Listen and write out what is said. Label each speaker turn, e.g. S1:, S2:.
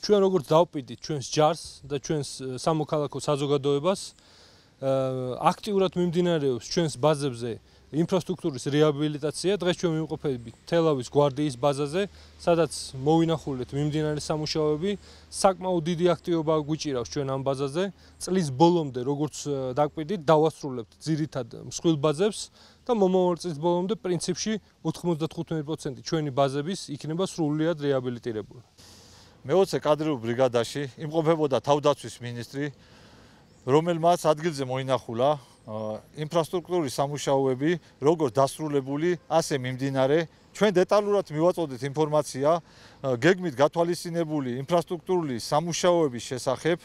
S1: ჩვენ როგორც დავპირდით ჩვენს ჯარს და ჩვენს სამოქალაქო საზოგადოებას აქტიურად მიმდინარეობს ჩვენს ბაზებზე ინფრასტრუქტურის რეაბილიტაცია. დღეს ჩვენ ვიმყოფებით თელავის გვარდიის ბაზაზე, სადაც მოვინახულეთ მიმდინარე სამუშაოები. საკმაოდ დიდი აქტივობა გვიჭირავს ჩვენ ამ ბაზაზე. წლის ბოლომდე, როგორც დაგვპირდით, დავასრულებთ ძირითად მსხვილ ბაზებს და მომავალ წლის ბოლომდე პრინციპში 95% ჩვენი ბაზების იქნება სრულიად რეაბილიტირებული.
S2: მე-20 კადრიულ ბრიგადაში იმყოფებოდა თავდაცვის მინისტრი, რომელმაც ადგილზე მოინახულა ინფრასტრუქტურის სამუშაოები, როგორც დასრულებული, ასე მიმდინარე. ჩვენ დეტალურად მივაწოდეთ ინფორმაცია გეგმით გათვალისწინებული ინფრასტრუქტურული სამუშაოების შესახებ.